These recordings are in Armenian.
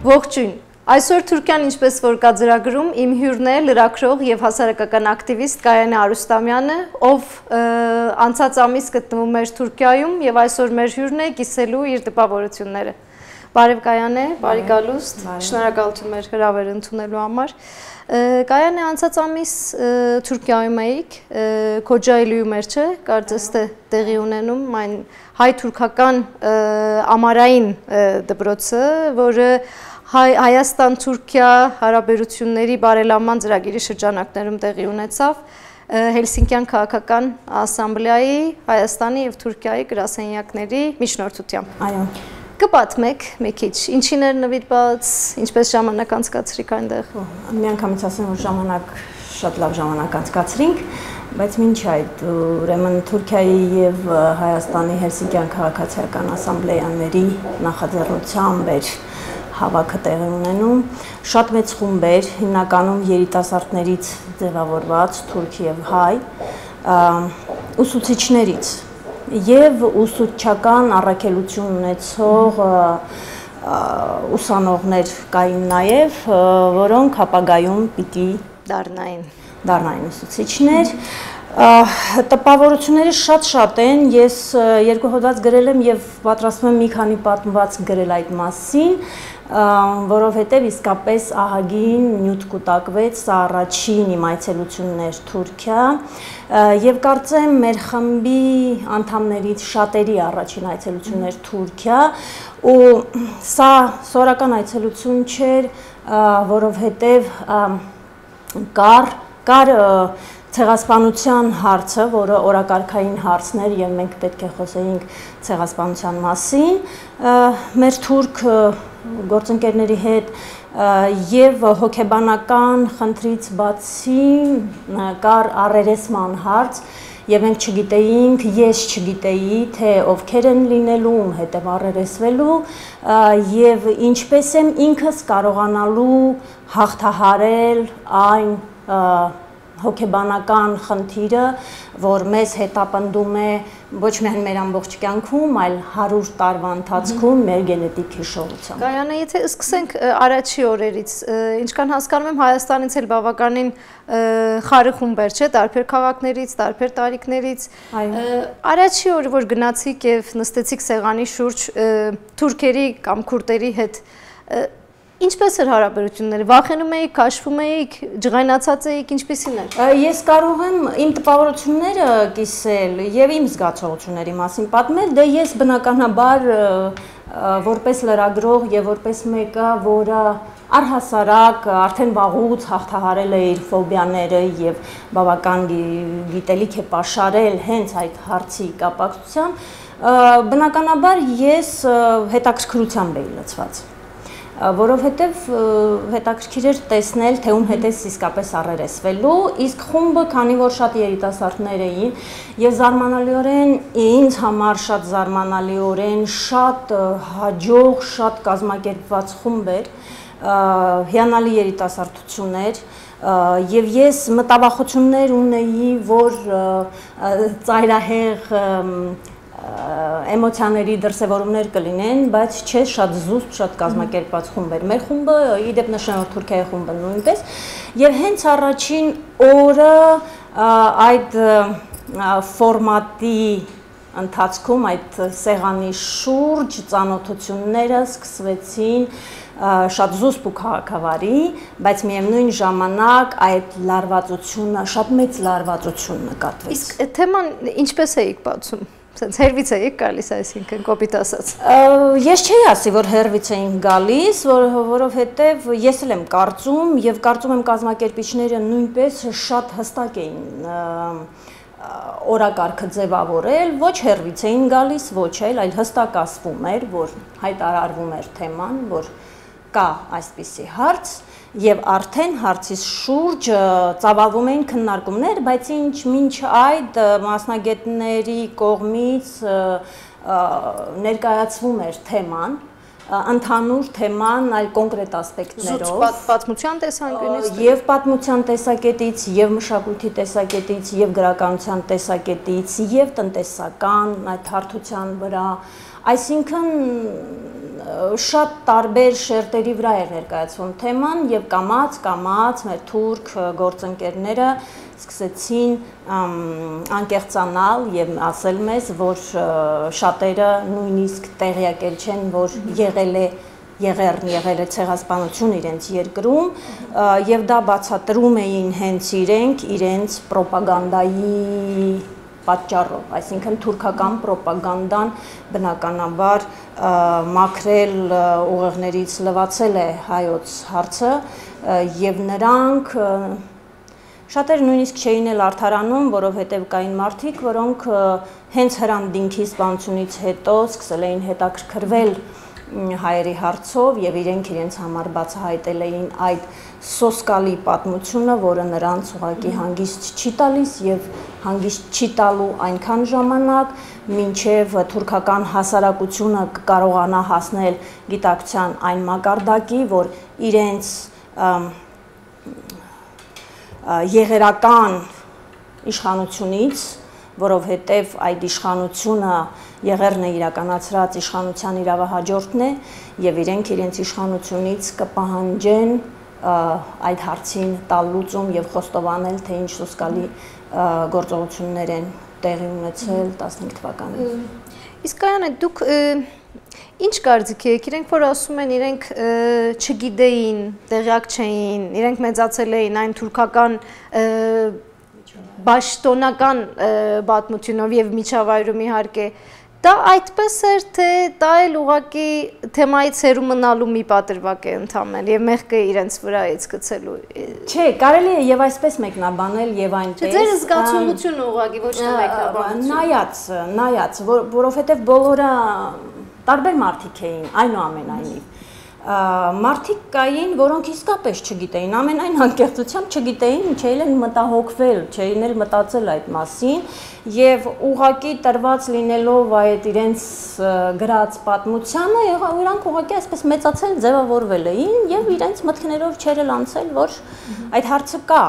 Ողջույն, այսօր Թուրքիան ինչպես որ կա ծրագրում, իմ հյուրն է լրագրող եւ հասարակական ակտիվիստ Գայանե Արուստամյանը, ով անցած ամիս գտնվում էր Թուրքիայում եւ այսօր մեր հյուրն է կիսելու իր տպավորությունները։ Բարև Գայանե, բարի գալուստ, շնորհակալություն մեր հրավերը ընդունելու համար։ Գայանե, անցած ամիս Թուրքիայում էիք, Քոջայելիում էր, չէ՞, կարծես թե տեղի ունենում այն հայ-թուրքական ամառային դպրոցը, որը Հայաստան-Թուրքիա հարաբերությունների բարելավման ծրագիրի շրջանակներում տեղի ունեցավ Հելսինկյան քաղաքական ասամբլեայի Հայաստանի եւ Թուրքիայի գրասենյակների միջնորդությամբ։ Այո։ Կպատմեք մի քիչ, ինչին էր նվիրված, ինչպես ժամանակ անցկացրիք այնտեղ։ Միանգամից ասեմ, որ շատ լավ ժամանակ անցկացրինք, բայց մինչ այդ ուրեմն Թուրքիայի եւ Հայաստանի Հելսինկյան քաղաքացիական ասամբլեաների նախաձեռնությամբ էր հավաքը տեղի ունենում, շատ մեծ խումբ էր, հիմնականում երիտասարդներից ձևավորված թուրք եւ հայ, ուսուցիչներից եւ ուսուցչական առաքելություն ունեցող ուսանողներ կային նաեւ, որոնք ապագայում պիտի դառնային ուսուցիչներ։ Տպավորությունները շատ են, ես երկու հոդված գրել եմ եւ պատրաստվում եմ մի քանի պատմվածք գրել այդ մասին, որովհետեւ իսկապես ահագին նյութ կուտակվեց, սա առաջին իմ այցելությունն էր Թուրքիա եւ կարծեմ մեր խմբի անդամներից շատերի առաջին այցելությունն էր Թուրքիա ու սա սորական այցելություն չէր, որովհետեւ կար ցեղասպանության հարցը, որը օրակարգային հարցն էր եւ մենք պետք է խոսեինք ցեղասպանության մասին, մեր թուրք գործընկերների հետ եւ հոգեբանական խնդրից բացի կար առերեսման հարց եւ մենք չգիտեինք, ես չգիտեի, թե ովքեր են լինելու, ում հետ եմ առերեսվելու եւ ինչպես եմ ինքս կարողանալու հաղթահարել այն հոգեբանական խնդիրը, որ մեզ հետապնդում է ոչ միայն մեր ամբողջ կյանքում, այլ 100 տարվա ընթացքում մեր գենետիկ հիշողությամբ։ Գայանե, եթե սկսենք առաջի օրերից, ինչքան հասկանում եմ, Հայաստանից էլ բավականին խարը խումբ էր, չէ՞, տարբեր քաղաքներից, տարբեր տարիքներից։ Առաջի օրը, որ գնացիք եւ նստեցիք սեղանի շուրջ թուրքերի կամ քուրդերի հետ, ինչպես էր հարաբերությունները, վախենում էիք, քաշվում էիք, ջղայնացած էիք, ինչպիսին էր։ Ես կարող եմ իմ տպավորությունները կիսել եւ իմ զգացողությունների մասին պատմել, դե ես բնականաբար որպես լրագրող եւ որպես մեկը, որը առհասարակ արդեն վաղուց հաղթահարել է իր ֆոբիաները եւ բավական գիտելիք է պաշարել հենց այդ հարցի կապակցությամբ, բնականաբար ես հետաքրքրությամբ էի լցված։ Որովհետև հետաքրքիր էր տեսնել, թե ում հետ է իսկապես առերեսվելու, իսկ խումբը, քանի որ շատ երիտասարդներ էին, եւ զարմանալիորեն ինձ համար շատ զարմանալիորեն շատ հաջող, շատ կազմակերպված խումբ էր, հիանալի երիտասարդություն էր, եւ ես մտավախություններ ունեի, որ ծայրահեղ էմոցիաների դրսևորումներ կլինեն, բայց չէ, շատ զուսպ, շատ կազմակերպված խումբ էր։ Մեր խումբը, իդեպ նշեմ, որ Թուրքիայի խումբը նույնպես, եւ հենց առաջին օրը այդ ֆորմատի ընթացքում, այդ սեղանի շուրջ ծանոթությունները սկսվեցին շատ զուսպ ու քաղաքավարի, բայց միևնույն ժամանակ այդ լարվածությունը, շատ մեծ լարվածություն նկատվեց։ Իսկ թեման ինչպես էիք բացում։ Սենց հերվից էիք գալիս, այսինքն կոպիտ ասած։ Ես չէի ասի, որ հերվից էինք գալիս, որովհետև ես էլ եմ կարծում եւ կարծում եմ կազմակերպիչները նույնպես շատ հստակ էին օրակարգը ձևավորել, ոչ հերվից էին գալիս, ոչ այլ հստակ ասվում էր, որ հայտարարվում էր թեման, որ կա այսպիսի հարց եւ արդեն հարցից շուրջ ծավալվում էին քննարկումներ, բայց մինչ այդ մասնագետների կողմից ներկայացվում էր թեման, ընդհանուր թեման այլ կոնկրետ ասպեկտներով, պատմության տեսանկյունից, եւ պատմության տեսակետից, եւ մշակույթի տեսակետից, եւ գրականության տեսակետից, եւ տնտեսական այդ հարթության վրա, այսինքն շատ տարբեր շերտերի վրա էր ներկայացվում թեման եւ կամաց մեր թուրք գործընկերները սկսեցին անկեղծանալ եւ ասել մեզ, որ շատերը նույնիսկ տեղյակ չեն, որ եղել է ցեղասպանություն իրենց երկրում եւ դա բացատրում էին հենց իրենց ռոպագանդայի պատճառով, այսինքն թուրքական ռոպագանդան բնականաբար մաքրել ուղեղներից լվացել է հայոց հարցը եւ նրանք շատերը նույնիսկ չէին էլ արդարանում, որովհետև կային մարդիկ, որոնք հենց հրանդինքի սպանությունից հետո սկսել էին հետաքրքրվել հայերի հարցով եւ իրենց համար բացահայտել էին այդ սոսկալի պատմությունը, որը նրանց ուղղակի հանգիստ չի տալիս եւ հանգիստ չի տալու այնքան ժամանակ, մինչեւ թուրքական հասարակությունը կարողանա հասնել գիտակցության այն մակարդակի, որ իրենց եղերական իշխանությունից, որովհետև այդ իշխանությունը եղերն է իրականացրած իշխանության իրավահաջորդն է եւ իրենց իշխանությունից կպահանջեն այդ հարցին տալ լուծում եւ խոստովանել, թե ինչ սոսկալի գործողություններ են տեղի ունեցել 15 թվականին։ Իսկ Կայանե, դուք ինչ կարծիք եք, իրենք որ ասում են, իրենք չգիտեին, տեղյակ չէին, իրենք մեծացել էին այն թուրքական պաշտոնական պատմությունով եւ միջավայրում իհարկե, դա այդպես էր, թե դա էլ ուղղակի թեմայից հեռու մնալու մի պատրվակ է ընդամենը եւ մեղքը իրենց վրայից գցելու։ Չէ, կարելի է եւ այսպես մեկնաբանել եւ այնպես։ Ձեր զգացողությունը ուղղակի ոչ թե մեկնաբանություն։ Նայած, որովհետեւ բոլորը տարբեր մարդիկ էին, այնուամենայնիվ։ Մարդիկ կային, որոնք իսկապես չգիտեին, ամենայն անկեղծությամբ չգիտեին, չէին էլ մտահոգվել, չէին էլ մտածել այդ մասին եւ ուղղակի տրված լինելով այդ իրենց գրած պատմությանը, իրանք ուղղակի այսպես մեծացել, ձևավորվել էին եւ իրենց մտքներով չեր էլ անցել, որ այդ հարցը կա։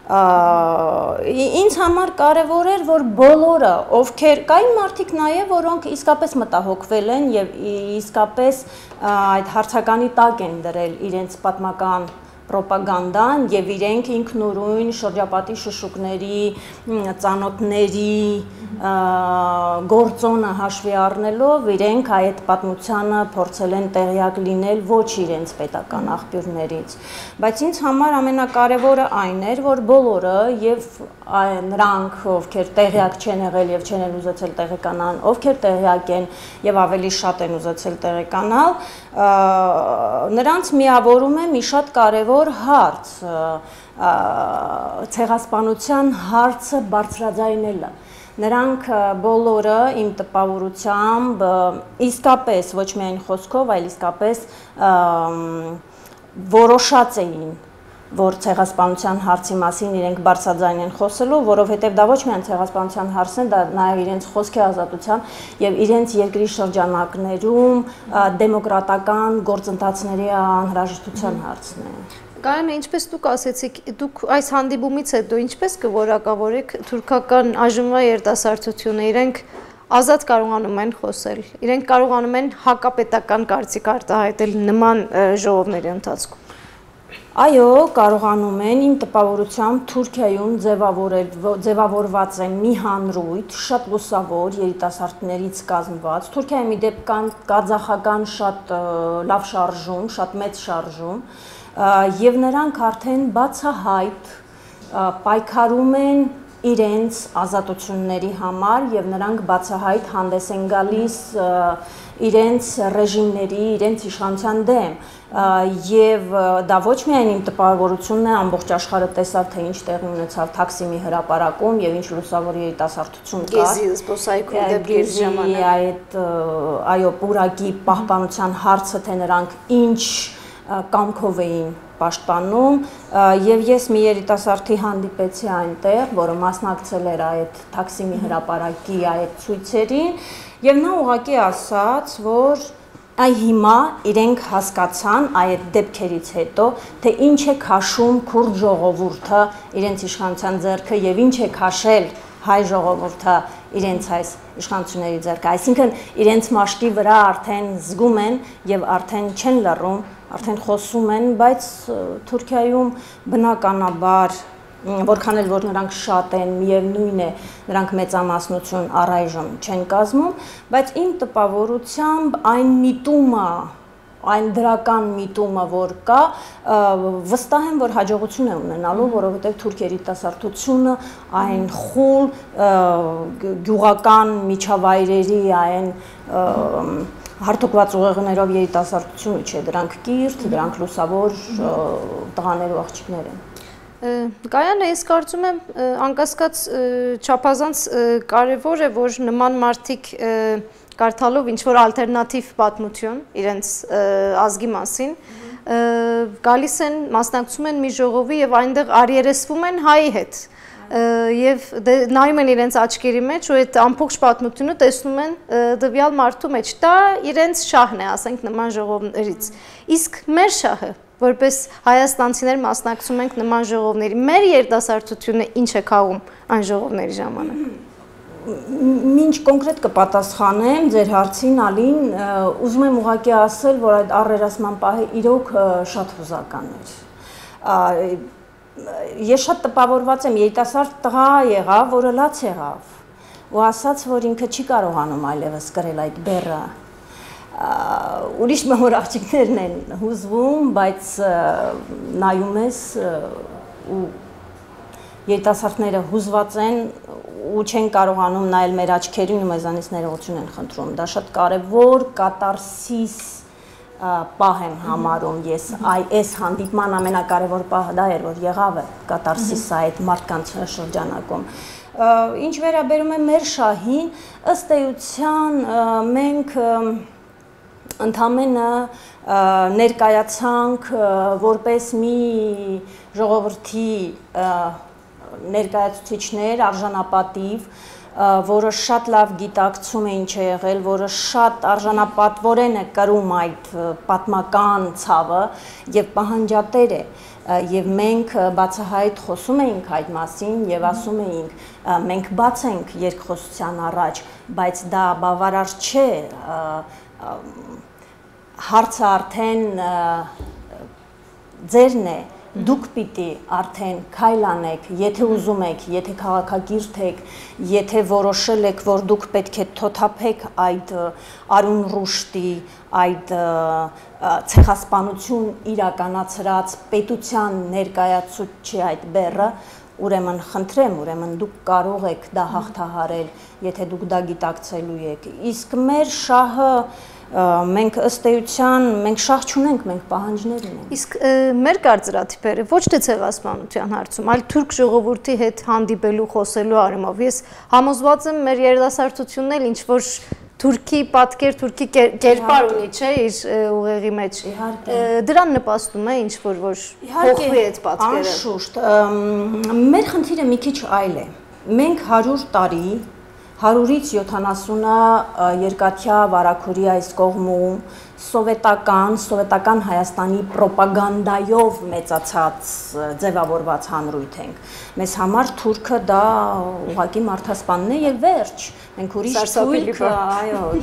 Ինձ համար կարևոր էր, որ բոլորը, ովքեր կային մարդիկ նաև, որոնք իսկապես մտահոգվել են եւ իսկապես այդ հարցականի տակ են դրել իրենց պատմական ռոպագանդան եւ իրենք ինքնուրույն շրջապատի շշուկների, ծանոթների գործոնը հաշվի առնելով իրենք այդ պատմությանը փորձել են տեղյակ լինել ոչ իրենց պետական աղբյուրներից, բայց ինձ համար ամենակարևորը այն էր, որ բոլորը եւ նրանք, ովքեր տեղյակ չեն եղել եւ չեն ուզեցել տեղեկանալ, ովքեր տեղյակ են եւ ավելի շատ են ուզեցել տեղեկանալ, նրանց միավորում է մի շատ կարևոր հարց, ցեղասպանության հարցը բարձրաձայնելը։ Նրանք բոլորը իմ տպավորությամբ իսկապես ոչ միայն խոսքով, այլ իսկապես որոշած էին, որ ցեղասպանության հարցի մասին իրենք բարձրաձայն են խոսելու, որովհետև դա ոչ միայն ցեղասպանության հարցն է, դա նաև իրենց խոսքի ազատության եւ իրենց երկրի շրջանակներում դեմոկրատական գործընթացների անհրաժեշտության հարցն է։ Կայանե, ինչպես դուք ասեցիք, դուք այս հանդիպումից հետո ինչպես կորակավորեք թուրքական այժմվա երիտասարդությունը, իրենք ազատ կարողանում են խոսել, իրենք կարողանում են հակապետական կարծիք արտահայտել նման ժողովների ընթացքում։ Այո, կարողանում են, իմ տպավորությամբ Թուրքիայում ձևավորված է մի հանրույթ, շատ լուսավոր երիտասարդներից կազմված, Թուրքիայի մի դեպք կան կազախական շատ լավ շարժում, շատ մեծ շարժում, եւ նրանք արդեն բացահայտ պայքարում են իրենց ազատությունների համար եւ նրանք բացահայտ հանդես են գալիս իրենց ռեժիմների, իրենց իշխանության դեմ եւ դա ոչ միայն իմ տպավորությունն է, ամբողջ աշխարհը տեսավ, թե ինչ տեղի ունեցավ Թաքսիմի հրապարակում եւ ինչ լուսավոր երիտասարդություն կար։ Գեզի զբոսայգու դեպքերի ժամանակ այդ այո, պուրակի պահպանության հարցը, թե նրանք ինչ կամքով էին պաշտպանում եւ ես մի երիտասարդի հանդիպեցի այնտեղ, որը մասնակցել էր այդ Թաքսիմի հրապարակի այդ ցույցերին եւ նա ուղղակի ասաց, որ այ հիմա իրենք հասկացան այդ դեպքերից հետո, թե ինչ է քաշում քուրդ ժողովուրդը իրենց իշխանության ձեռքը եւ ինչ է քաշել հայ ժողովուրդը իրենց այս իշխանությունների ձեռքը, այսինքն իրենց մաշկի վրա արդեն զգում են եւ արդեն չեն լռում, արդեն խոսում են, բայց Թուրքիայում բնականաբար որքան էլ որ նրանք շատ են, միևնույն է, նրանք մեծամասնություն առայժմ չեն կազմում, բայց իմ տպավորությամբ այն միտումը, այն դրական միտումը, որ կա, վստահ եմ, որ հաջողություն է ունենալու, որովհետև թուրք երիտասարդությունը այն խուլ գյուղական միջավայրերի, այն հարթուկված ուղեղներով երիտասարդությունը չէ, դրանք կիրթ, դրանք լուսավոր տղաներ ու աղջիկներ են։ Գայանը, ես կարծում եմ, անկասկած չափազանց կարևոր է, որ նման մարդիկ կարդալով ինչ-որ ալտերնատիվ պատմություն իրենց ազգի մասին, գալիս են, մասնակցում են մի ժողովի և այնտեղ արիերեսվում են հայի հետ և նայում են իրենց աչքերի մեջ ու այդ ամբողջ պատմությունը տեսնում են տվյալ մարդու մեջ, դա իրենց շահն է, ասենք նման ժողովներից, իսկ մեր շահը, որպես հայաստանցիներ մասնակցում ենք նման ժողովների, մեր երիտասարդությունը ինչ է քաղում այն ժողովների ժամանակ։ Մինչ կոնկրետ կպատասխանեմ ձեր հարցին, Ալին, ուզում եմ ուղղակի ասել, որ այդ առերասման պահը իրոք շատ հուզական էր։ Ես շատ տպավորված եմ, երիտասարդ տղա եղավ, որը լաց եղավ, ու ասաց, որ ինքը չի կարողանում այլևս կրել այդ բեռը։ Ուրիշ մոր աղջիկներն են հուզվում, բայց նայում ես ու երիտասարդները հուզված են ու չեն կարողանում նայել մեր աչքերին ու մեզանից ներողություն են խնդրում։ Դա շատ կարևոր կատարսիս պահ եմ համարում ես, այս հանդիպման ամենակարևոր պահը դա էր, որ եղավ է կատարսիսը այդ մարդկանց շրջանակում։ Ինչ վերաբերում է մեր շահին, ըստ էության մենք ընդամենը ներկայացանք որպես մի ժողովրդի ներկայացուցիչներ արժանապատիվ, որը շատ լավ գիտակցում է ինչ է եղել, որը շատ արժանապատվորեն է կրում այդ պատմական ցավը եւ պահանջատեր է, եւ մենք բացահայտ խոսում էինք այդ մասին եւ ասում էինք մենք բաց ենք երկխոսության առաջ, բայց դա բավարար չէ, հարցը արդեն ձերն է, դուք պիտի արդեն քայլ անեք, եթե ուզում եք, եթե քաղաքակիրթ եք, եթե որոշել եք, որ դուք պետք է թոթափեք այդ արուն ռուշտի, այդ ցեղասպանություն իրականացրած պետության ներկայացուցիչի այդ բեռը, ուրեմն խնդրեմ, ուրեմն դուք կարող եք դա հաղթահարել, եթե դուք դա գիտակցելու եք։ Իսկ մեր շահը մենք ըստ էության, մենք շահ չունենք, մենք պահանջներ ունենք։ Իսկ մեր կարծրատիպերը ոչ թե ցեղասպանության հարցում, այլ թուրք ժողովրդի հետ հանդիպելու, խոսելու առումով, ես համոզված եմ մեր երիտասարդությունն էլ ինչ-որ թուրքի պատկեր, թուրքի կերպար ունի, չէ, իր ուղեղի մեջ։ Դրան նպաստում է ինչ-որ, որ փոխվի այդ պատկերը։ Անշուշտ, մեր խնդիրը մի քիչ այլ է։ Մենք 100 տարի 100-ից 70-ը երկաթյա վարագույրի այս կողմում սովետական Հայաստանի պրոպագանդայով մեծացած ձևավորված հանրույթ ենք։ Մեզ համար թուրքը դա ուղղակի մարդասպանն է եւ վերջ։ Մենք ուրիշ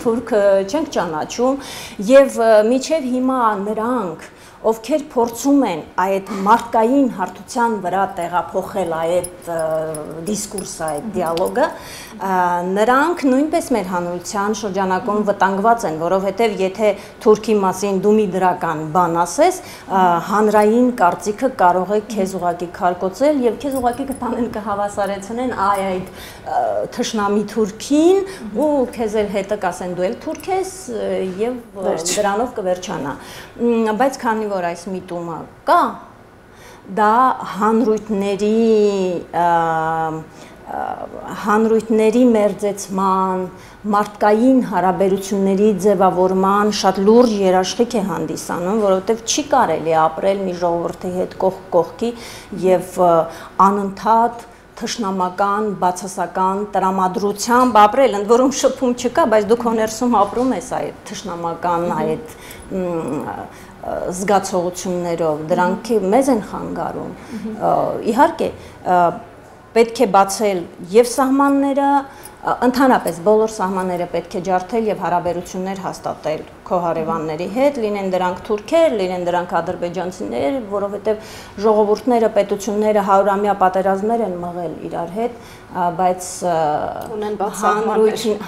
թուրք չենք ճանաչում եւ միջև հիմա նրանք ովքեր փորձում են այդ մարդկային հարթության վրա տեղափոխել այդ դիսկուրսը, այդ դիալոգը, նրանք նույնպես մեր հանրության շրջանակում վտանգված են, որովհետև եթե թուրքի մասին դու մի դրական բան ասես, հանրային կարծիքը կարող է քեզ ուղղակի քարկոծել եւ քեզ ուղղակի կտանեն կհավասարեցնեն այդ թշնամի թուրքին ու քեզ էլ հետը կասեն դու էլ թուրք ես եւ դրանով կվերջանա։ Բայց քանի որ այս միտումը կա, դա հանրույթների մերձեցման, մարդկային հարաբերությունների ձևավորման շատ լուրջ երաշխիք է հանդիսանում, որովհետև չի կարելի ապրել մի ժողովրդի հետ կողք կողքի եւ անընդհատ թշնամական, բացասական տրամադրությամբ ապրել, ընդ որում շփում չկա, բայց դու քո ներսում ապրում ես այդ թշնամական, այդ զգացողություններով, դրանք մեզ են խանգարում։ Իհարկե, պետք է բացել եւ սահմանները, Ընդհանրապես բոլոր սահմանները պետք է ջարդել եւ հարաբերություններ հաստատել քո հարևանների հետ, լինեն դրանք թուրքեր, լինեն դրանք ադրբեջանցիներ, որովհետեւ ժողովուրդները, պետությունները 100-ամյա պատերազմներ են մղել իրար հետ, բայց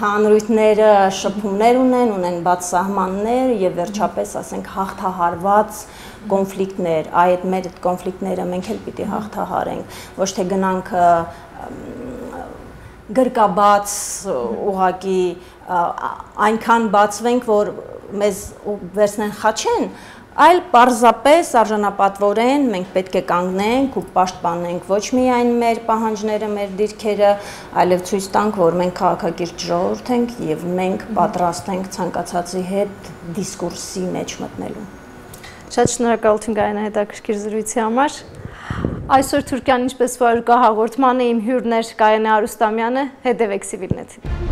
հանրույթները շփումներ ունեն բաց սահմաններ եւ վերջապես ասենք հաղթահարված կոնֆլիկտներ, այդ մեր կոնֆլիկտները մենք էլ պիտի հաղթահարենք, ոչ թե գնանք գրկաբաց ուղակի այնքան բացվենք, որ մեզ վերցնեն խաչեն, այլ պարզապես արժանապատվորեն մենք պետք է կանգնենք ու պաշտպանենք ոչ միայն մեր պահանջները, մեր դիրքերը, այլև ցույց տանք, որ մենք քաղաքակիրթ ժողովուրդ ենք եւ մենք պատրաստ ենք ցանկացածի հետ դիսկուրսի մեջ մտնելու։ Շատ շնորհակալություն Գայանա հետաքրքիր զրույցի համար։ Այսօր Թուրքիան ինչպես որ կա հաղորդմանը իմ հյուրն էր Գայանա Արուստամյանը, հետևեք Civilnet-ին։